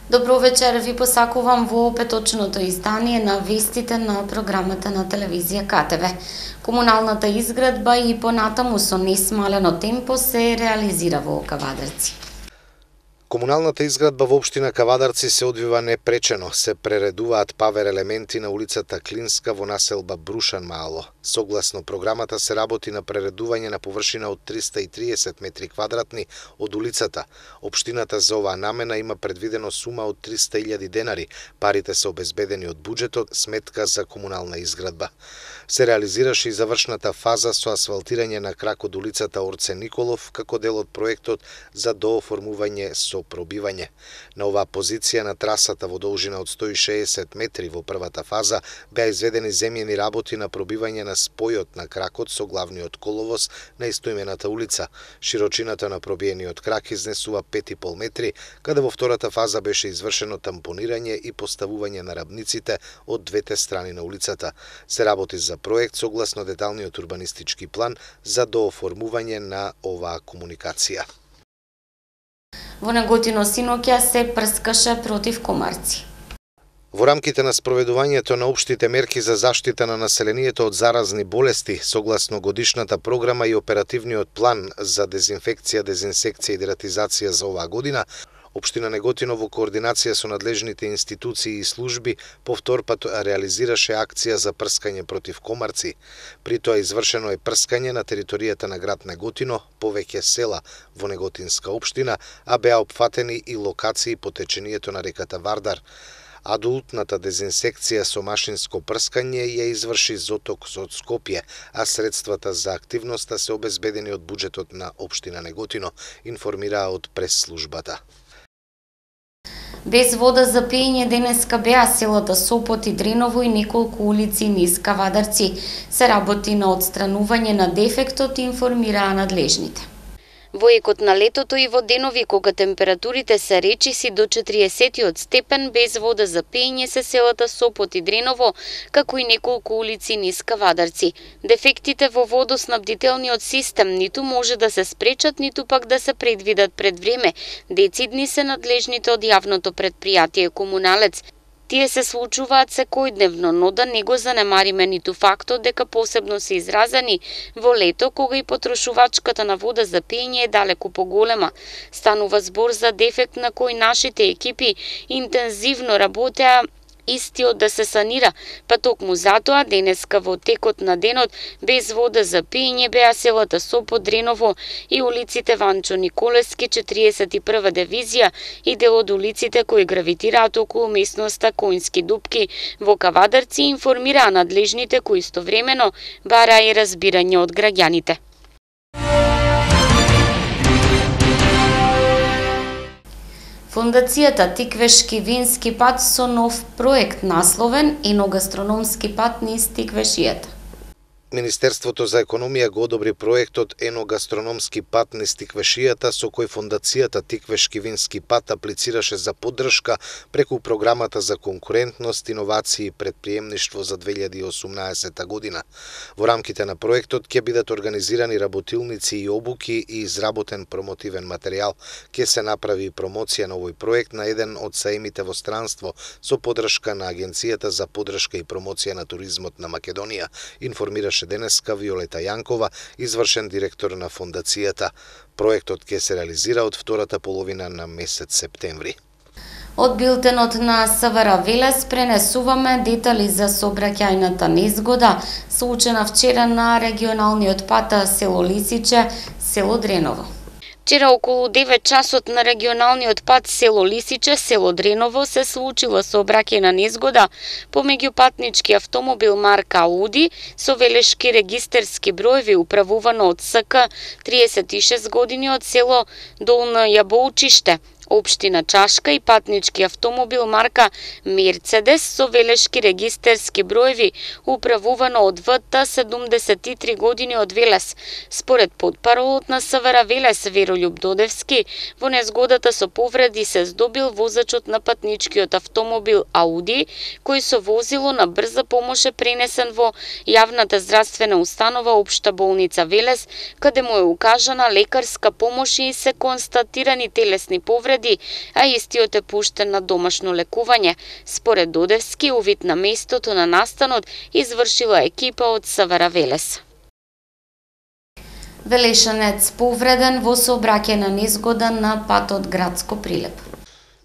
Добро вечер, ви посакувам во петочното издание на вестите на програмата на телевизија КТВ. Комуналната изградба и понатаму со несмалено темпо се реализира во Кавадарци. Комуналната изградба во општина Кавадарци се одвива непречено. Се прередуваат павер елементи на улицата Клинска во населба Брушан Мало. Согласно програмата се работи на прередување на површина од 330 метри квадратни од улицата. Општината за оваа намена има предвидено сума од 300.000 денари. Парите се обезбедени од буџетот, сметка за комунална изградба. Се реализираше и завршната фаза со асфалтирање на крак од улицата Орце Николов како дел од проектот за дооформување со пробивање. На оваа позиција на трасата во должина од 160 метри во првата фаза беа изведени земјени работи на пробивање на спојот на кракот со главниот коловоз на истоимената улица. Широчината на пробиениот крак изнесува 5,5 метри, каде во втората фаза беше извршено тампонирање и поставување на рабниците од двете страни на улицата. Се работи за проект согласно деталниот урбанистички план за дооформување на оваа комуникација. Во Неготино синоќа се прскаше против комарци. Во рамките на спроведувањето на општите мерки за заштита на населението од заразни болести, согласно годишната програма и оперативниот план за дезинфекција, дезинсекција и дератизација за оваа година, Општина Неготино во координација со надлежните институции и служби повтор пат реализираше акција за прскање против комарци. При тоа извршено е прскање на територијата на град Неготино, повеќе села во Неготинска општина, а беа опфатени и локации по течението на реката Вардар. Адултната дезинсекција со машинско прскање ја изврши Зоток од Скопје, а средствата за активноста се обезбедени од буџетот на општина Неготино, информираа од прес-службата. Без вода за пиење денеска беа селата Сопот и Дреново и неколку улици низ Кавадарци. Се работи на отстранување на дефектот, информираа надлежните. Во екот на летото и во денови кога температурите се речиси до 40 степен, без вода за пиење се селата Сопот и Дреново, како и неколку улици низ Кавадарци. Дефектите во водоснабдителниот систем ниту може да се спречат, ниту пак да се предвидат пред време. Децидни се надлежните од јавното предпријатие Комуналец. Тие се случуваат секојдневно, но да не го занемариме ниту фактот дека посебно се изразени во лето кога и потрошувачката на вода за пиење е далеку поголема. Станува збор за дефект на кој нашите екипи интензивно работеа истиот да се санира, па токму затоа денеска во текот на денот без вода за пиење беа селата Сопот, Дреново и улиците Ванчо Николевски, 41 дивизија и дел од улиците кои гравитираат околу местноста Коњски дупки во Кавадарци, информираа надлежните кои истовремено бараа и разбирање од граѓаните. Фондацијата Тиквешки вински пат со нов проект насловен еногастрономски пат низ Тиквешијата. Министерството за економија го одобри проектот еногастрономски пат низ Тиквешијата, со кој фондацијата Тиквешки вински пат аплицираше за поддршка преку програмата за конкурентност, иновации и предприемништво за 2018 година. Во рамките на проектот ќе бидат организирани работилници и обуки и изработен промотивен материјал. Ќе се направи промоција на овој проект на еден од саемите во странство со поддршка на Агенцијата за поддршка и промоција на туризмот на Македонија, информираше денеска Виолета Јанкова, извршен директор на фондацијата. Проектот ќе се реализира од втората половина на месец септември. Од билтенот на СВР Велес пренесуваме детали за сообраќајната незгода случена вчера на регионалниот пат село Лисиче, село Дреново. Вчера околу 9 часот на регионалниот пат село Лисиче, село Дреново се случила сообраќајна незгода помеѓу патнички автомобил марка Ауди со велешки регистерски броеви управувано од СК 36 години од село Долно Јаболчиште, општина Чашка и патнички автомобил марка Мерцедес со велешки регистерски броеви управувано од ВТ 73 години од Велес. Според потпаролот на СВР Велес Веролјуб Додевски, во незгодата со повреди се здобил возачот на патничкиот автомобил Ауди, кој со возило на брза помош е пренесен во јавната здравствена установа Општа болница Велес, каде му е укажана лекарска помош и се констатирани телесни повреди повреди, а истиот е пуштен на домашно лекување. Според Додевски, увид на местото на настанот извршила екипа од СВР Велес. Велешанец повреден во сообраќајна незгода на патот Градско Прилеп.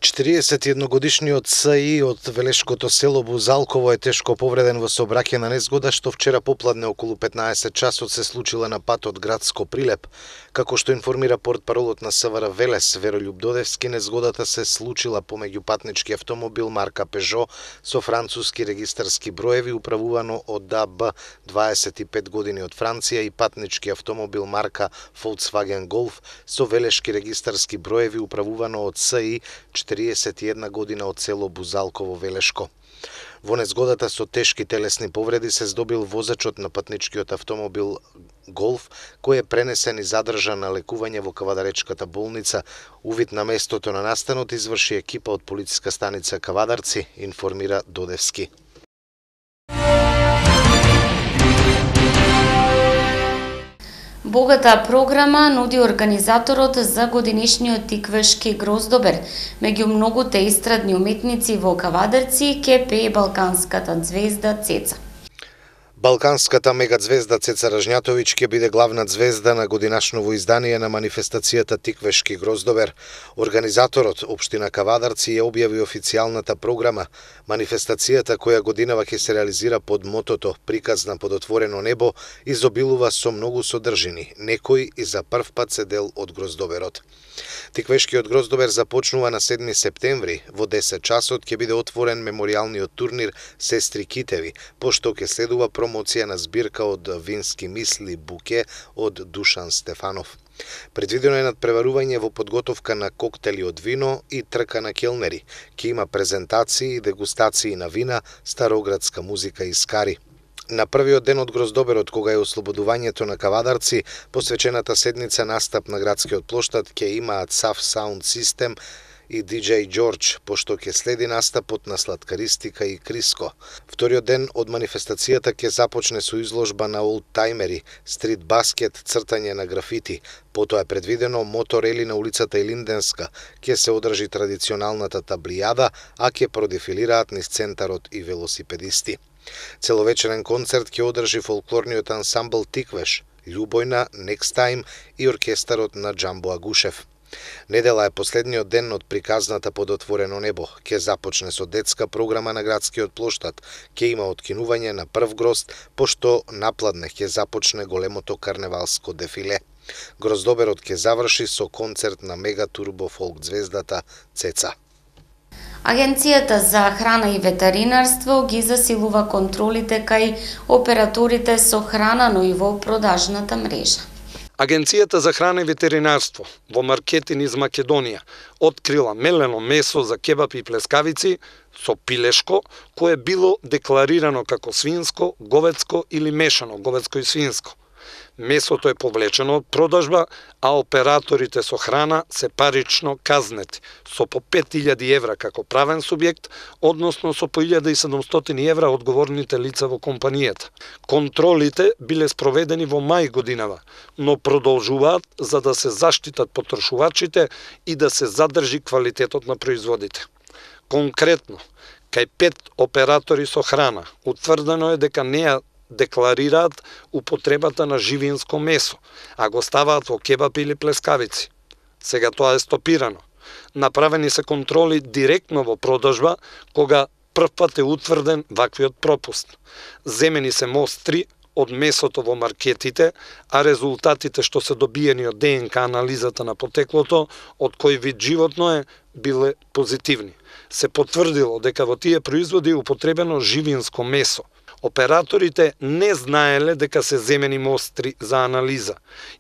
41-годишниот СИ од велешкото село Бузалково е тешко повреден во сообраќајна незгода што вчера попладне околу 15 часот се случила на патот Градско Прилеп. Како што информира портпаролот на СВР Велес, Веролјуб Додевски, незгодата се случила помеѓу патнички автомобил марка Пежо со француски регистарски броеви управувано од ДАБ 25 години од Франција и патнички автомобил марка Volkswagen Golf со велешки регистарски броеви управувано од СИ 41 година од село Бузалково Велешко. Во незгодата со тешки телесни повреди се здобил возачот на патничкиот автомобил Голф, кој е пренесен и задржан на лекување во Кавадаречката болница. Увид на местото на настанот изврши екипа од полициска станица Кавадарци, информира Додевски. Богата програма нуди организаторот за годинишниот тиквешки гроздобер. Меѓу многуте естрадни уметници во Кавадарци ќе пее балканската ѕвезда Цеца. Балканската мегазвезда Цеца Ражњатовиќ ќе биде главна ѕвезда на годинашново издание на манифестацијата Тиквешки гроздобер. Организаторот, Општина Кавадарци, ја објави официјалната програма. Манифестацијата, која годинава ќе се реализира под мотото "Приказна под отворено небо", изобилува со многу содржини, некои и за прв пат се дел од гроздоберот. Тиквешкиот гроздобер започнува на 7 септември. Во 10 часот ќе биде отворен меморијалниот турнир Сестри Китеви, пошто ќе следува промоција на збирка од вински мисли Буке од Душан Стефанов. Предвидено е надпреварување во подготовка на коктели од вино и трка на келнери. Ќе има презентации и дегустации на вина, староградска музика и скари. На првиот ден од гроздоберот, кога е ослободувањето на Кавадарци, посвечената седница настап на градскиот плоштад ќе имаат SAF Sound System и DJ George, пошто ќе следи настапот на Сладкаристика и Криско. Вториот ден од манифестацијата ќе започне со изложба на олдтаймери, стрит баскет, цртање на графити. Потоа е предвидено моторели на улицата Илинденска, ќе се одржи традиционалната таблијада, а ќе продефилираат низ центарот и велосипедисти. Целовечерен концерт ќе одржи фолклорниот ансамбл Тиквеш, Љубојна, Next Time и оркестарот на Џамбо Агушев. Недела е последниот ден од приказната под отворено небо. Ќе започне со детска програма на градскиот плоштад. Ќе има откинување на прв грозд, пошто напладне ќе започне големото карневалско дефиле. Гроздоберот ќе заврши со концерт на мега турбо фолк ѕвездата Цеца. Агенцијата за храна и ветеринарство ги засилува контролите кај операторите со храна, но и во продажната мрежа. Агенцијата за храна и ветеринарство во маркетин из Македонија открила мелено месо за кебап и плескавици со пилешко, кое било декларирано како свинско, говедско или мешано говедско и свинско. Месото е повлечено од продажба, а операторите со храна се парично казнети со по 5000 евра како правен субјект, односно со по 1700 евра одговорните лица во компанијата. Контролите биле спроведени во мај годинава, но продолжуваат за да се заштитат потрошувачите и да се задржи квалитетот на производите. Конкретно, кај 5 оператори со храна утврдено е дека не ја декларираат употребата на живинско месо, а го ставаат во кебап или плескавици. Сега тоа е стопирано. Направени се контроли директно во продажба, кога првпат е утврден ваквиот пропуст. Земени се мостри од месото во маркетите, а резултатите што се добиени од ДНК анализата на потеклото, од кој вид животно е, биле позитивни. Се потврдило дека во тие производи е употребено живинско месо. Операторите не знаеле дека се земени мостри за анализа.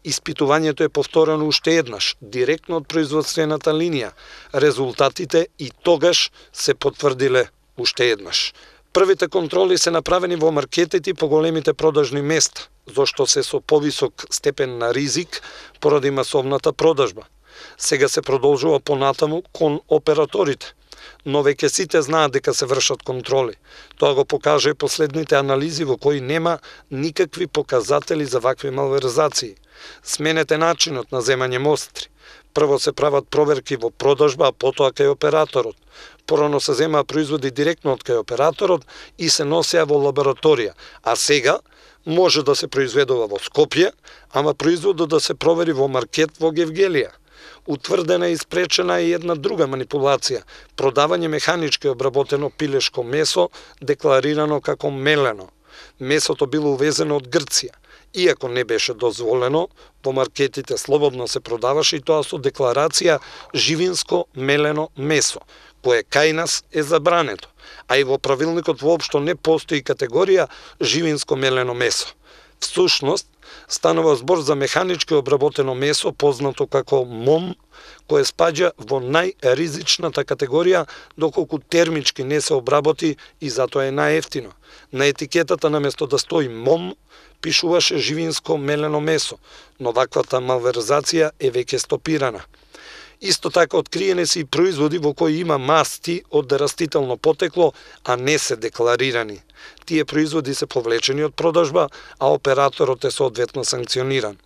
Испитувањето е повторено уште еднаш, директно од производствената линија. Резултатите и тогаш се потврдиле уште еднаш. Првите контроли се направени во маркетите по големите продажни места, зашто се со повисок степен на ризик поради масовната продажба. Сега се продолжува понатаму кон операторите, но веќе сите знаат дека се вршат контроли. Тоа го покажа и последните анализи во кои нема никакви показатели за вакви малверзации. Сменете начинот на земање мостри. Прво се прават проверки во продажба, а потоа кај операторот. Порано се земаа производи директно од кај операторот и се носеа во лабораторија, а сега може да се произведува во Скопје, ама производот да се провери во маркет во Гевгелија. Утврдена и спречена е една друга манипулација – продавање механички обработено пилешко месо, декларирано како мелено. Месото било увезено од Грција. Иако не беше дозволено, во маркетите слободно се продаваше и тоа со декларација живинско мелено месо, кое кај нас е забрането, а и во правилникот воопшто не постои категорија живинско мелено месо. Всушност, станува збор за механички обработено месо, познато како МОМ, кое спаѓа во најризичната категорија, доколку термички не се обработи и затоа е најевтино. На етикетата наместо да стои МОМ, пишуваше живинско мелено месо, но ваквата малверзација е веќе стопирана. Исто така откриени се и производи во кои има масти од растително потекло, а не се декларирани. Тие производи се повлечени од продажба, а операторот е соодветно санкциониран.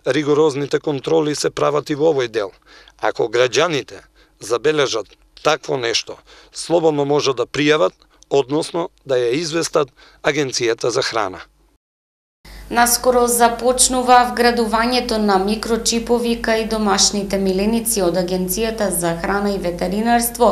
Ригорозните контроли се прават и во овој дел. Ако граѓаните забележат такво нешто, слободно може да пријават, односно да ја известат Агенцијата за храна. Наскоро започнува вградувањето на микрочипови кај домашните миленици од Агенцијата за храна и ветеринарство.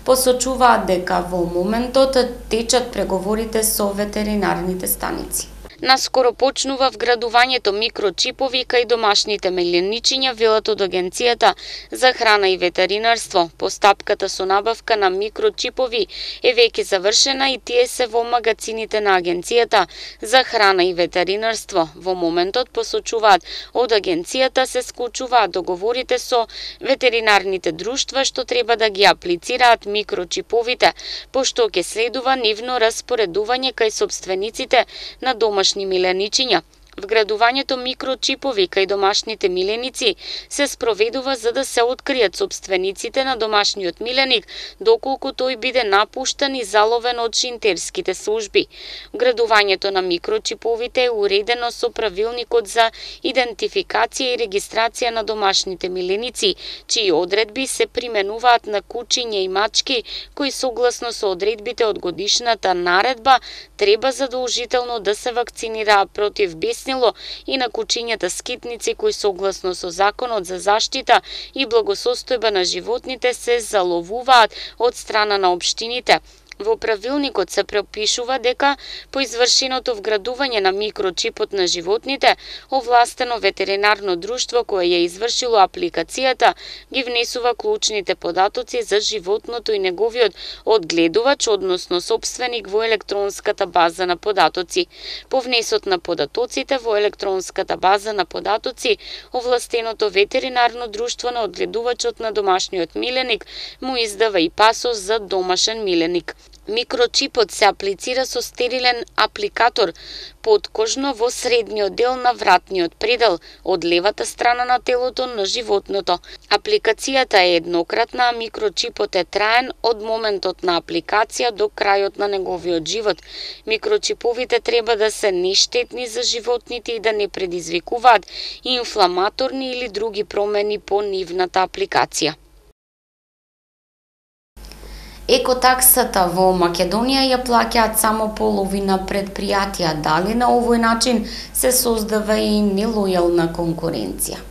Посочуваат дека во моментот течат преговорите со ветеринарните станици. Наскоро почнува вградувањето микрочипови кај домашните меленичиња, велат од Агенцијата за храна и ветеринарство. Постапката со набавка на микрочипови е веќе завршена и тие се во магацините на Агенцијата за храна и ветеринарство. Во моментот, посочуваат од Агенцијата, се склучуваат договорите со ветеринарните друштва што треба да ги аплицираат микрочиповите, пошто ќе следува нивно распоредување кај собствениците на домашни миленичиња. Вградувањето микрочипови кај домашните миленици се спроведува за да се откријат собствениците на домашниот миленик, доколку тој биде напуштан и заловен од шинтерските служби. Вградувањето на микрочиповите е уредено со правилникот за идентификација и регистрација на домашните миленици, чии одредби се применуваат на кучиња и мачки, кои согласно со одредбите од годишната наредба треба задолжително да се вакцинираат против беснило и на кучињата скитници кои согласно со Законот за заштита и благосостојба на животните се заловуваат од страна на општините. Во правилникот се пропишува дека по извршеното вградување на микрочипот на животните, овластено ветеринарно друштво кое ја извршило апликацијата ги внесува клучните податоци за животното и неговиот одгледувач, односно сопственик, во електронската база на податоци. По внесот на податоците во електронската база на податоци, овластеното ветеринарно друштво на одгледувачот на домашниот миленик му издава и пасос за домашен миленик. Микрочипот се аплицира со стерилен апликатор подкожно во средниот дел на вратниот предел од левата страна на телото на животното. Апликацијата е еднократна, а микрочипот е траен од моментот на апликација до крајот на неговиот живот. Микрочиповите треба да се нештетни за животните и да не предизвикуваат инфламаторни или други промени по нивната апликација. Екотаксата во Македонија ја плаќаат само половина предпријатија. Дали на овој начин се создава и нелојална конкуренција?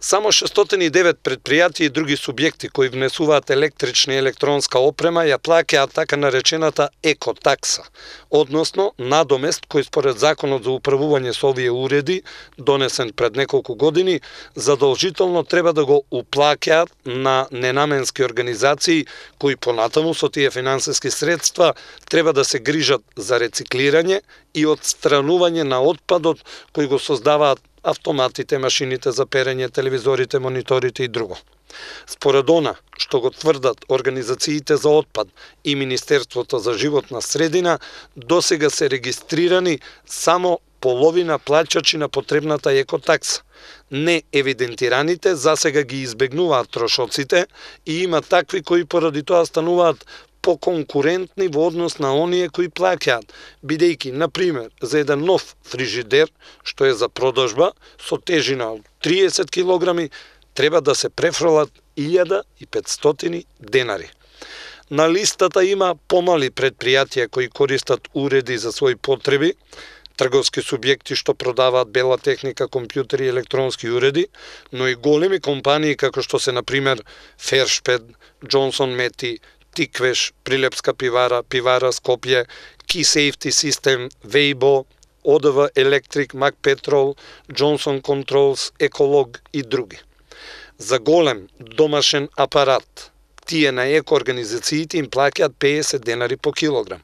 Само 609 предпријатија и други субјекти кои внесуваат електрична и електронска опрема ја плаќаат така наречената екотакса, односно надомест кој според Законот за управување со овие уреди, донесен пред неколку години, задолжително треба да го уплаќаат на ненаменски организации кои понатаму со тие финансиски средства треба да се грижат за рециклирање и отстранување на отпадот кој го создаваат автоматите, машините за перење, телевизорите, мониторите и друго. Според она што го тврдат организациите за отпад и Министерството за животна средина, досега се регистрирани само половина плаќачи на потребната екотакса. Не евидентираните засега ги избегнуваат трошоците и има такви кои поради тоа стануваат поконкурентни во однос на оние кои плаќаат, бидејќи, например, за еден нов фрижидер, што е за продажба, со тежина од 30 килограми, треба да се префрлат 1500 денари. На листата има помали предпријатија кои користат уреди за своји потреби, трговски субјекти што продаваат бела техника, компјутери и електронски уреди, но и големи компании како што се, например, Фершпед, Джонсон Мети, Тиквеш, Прилепска пивара, Пивара Скопје, Key Safety System, Weibo, ОДВ Електрик, Мак Петрол, Джонсон Контролс, Еколог и други. За голем домашен апарат, тие на еко-организациите им плаќаат 50 денари по килограм.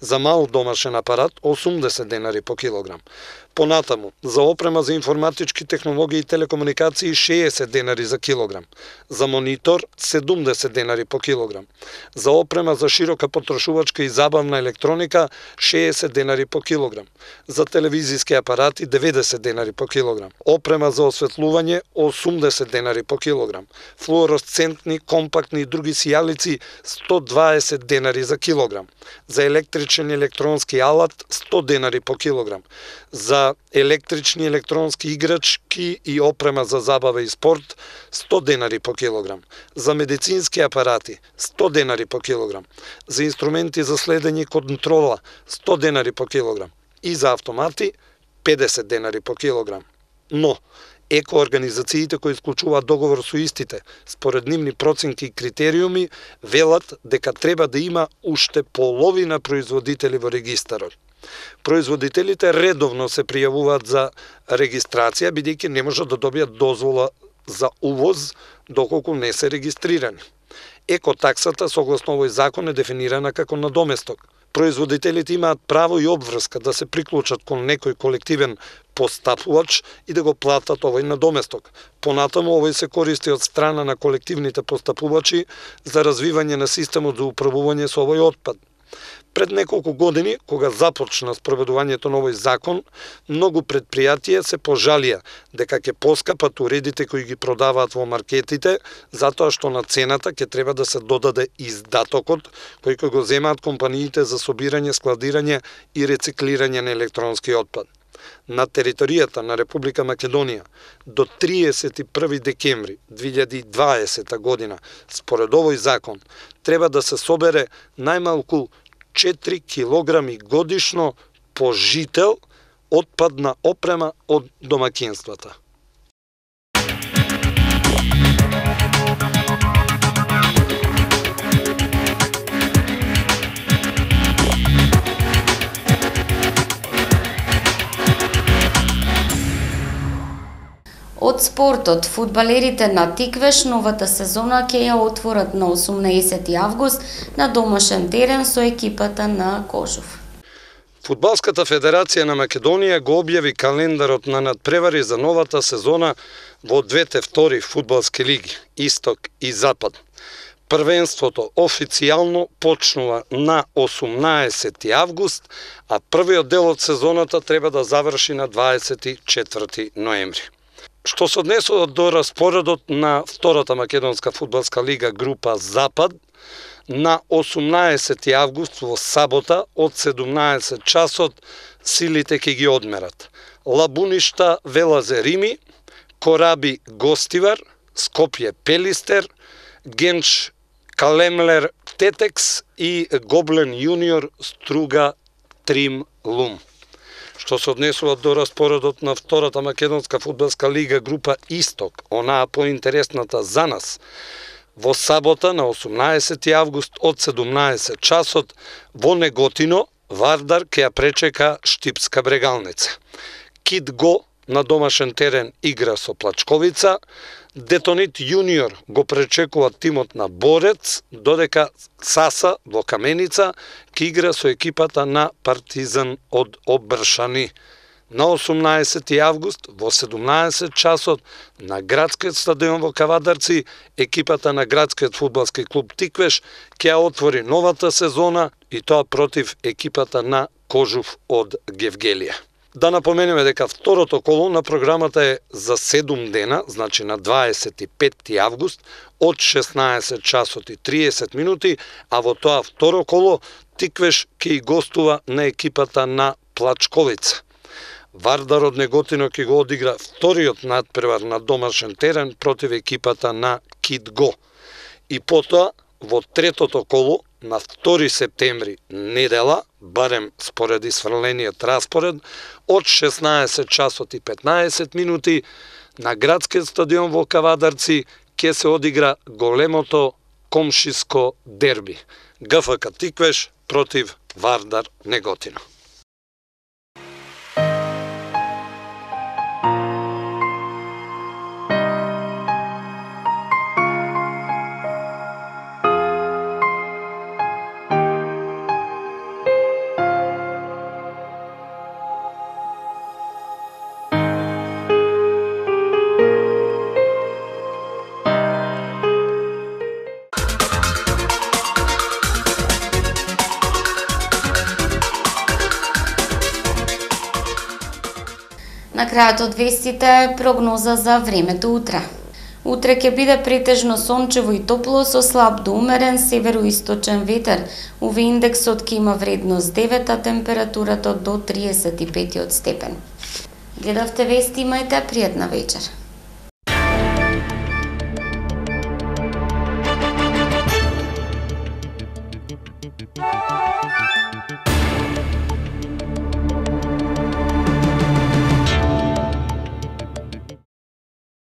За мал домашен апарат 80 денари по килограм. Понатаму, за опрема за информатички технологии и телекомуникации 60 денари за килограм. За монитор 70 денари по килограм. За опрема за широка потрошувачка и забавна електроника 60 денари по килограм. За телевизиски апарати 90 денари по килограм. Опрема за осветлување 80 денари по килограм. Флуоресцентни, компактни и други сијалици 120 денари за килограм. За електричен и електронски алат 100 денари по килограм. За електрични електронски играчки и опрема за забава и спорт 100 денари по килограм. За медицински апарати 100 денари по килограм. За инструменти за следење и контрола 100 денари по килограм. И за автомати 50 денари по килограм. Но еко-организациите кои исклучуваат договор со истите, според нивни проценки и критериуми, велат дека треба да има уште половина производители во регистарот. Производителите редовно се пријавуваат за регистрација, бидејќи не можат да добијат дозвола за увоз доколку не се регистрирани. Екотаксата, согласно овој закон, е дефинирана како надоместок. Производителите имаат право и обврска да се приклучат кон некој колективен постапувач и да го платат овој надоместок. Понатаму овој се користи од страна на колективните постапувачи за развивање на системот за управување со овој отпад. Пред неколку години, кога започна спроведувањето на овој закон, многу предпријатија се пожалија дека ќе поскапат уредите кои ги продаваат во маркетите, затоа што на цената ќе треба да се додаде издатокот кој го земаат компаниите за собирање, складирање и рециклирање на електронски отпад. На територијата на Република Македонија до 31 декември 2020 година, според овој закон, треба да се собере најмалку 4 килограми годишно по жител отпадна опрема од домаќинствата. Од спортот, фудбалерите на Тиквеш новата сезона ќе ја отворат на 18 август на домашен терен со екипата на Кожув. Фудбалската федерација на Македонија го објави календарот на надпревари за новата сезона во двете втори фудбалски лиги, Исток и Запад. Првенството официјално почнува на 18 август, а првиот дел од сезоната треба да заврши на 24 ноември. Што се однесува до распоредот на втората македонска фудбалска лига група Запад, на 18 август во сабота од 17 часот силите ќе ги одмерат. Лабуништа Велазе Рими, Кораби Гостивар, Скопје Пелистер, Генч Калемлер Тетекс и Гоблен Јуниор Струга Трим Лум. Што се однесува до распоредот на втората македонска фудбалска лига група Исток, онаа поинтересната за нас, во сабота на 18 август од 17 часот во Неготино Вардар ќе ја пречека Штипска Брегалница. Кит Го на домашен терен игра со Плачковица, Детонит Јуниор го пречекува тимот на Борец, додека Саса во Каменица ќе игра со екипата на Партизан од Обршани. На 18 август во 17 часот на градскиот стадион во Кавадарци екипата на градскиот фудбалски клуб Тиквеш ќе отвори новата сезона и тоа против екипата на Кожув од Гевгелија. Да напоменеме дека второто коло на програмата е за 7 дена, значи на 25 август од 16 часот и 30 минути, а во тоа второ коло Тиквеш ќе и гостува на екипата на Плачковица. Вардар од Неготино ќе го одигра вториот надпревар на домашен терен против екипата на Китго. И потоа, во третото коло, на 2 септември, недела, барем според исфрлениот распоред, од 16 часот и 15 минути, на градскиот стадион во Кавадарци ќе се одигра големото комшиско дерби. ГФК Тиквеш против Вардар Неготино. На крајот од вестите прогноза за времето утре. Утре ќе биде претежно сончево и топло со слаб до умерен североисточен ветер. УВ индексот ќе има вредност 9, а температурата до 35 степен. Гледавте вести, имајте пријатна вечер.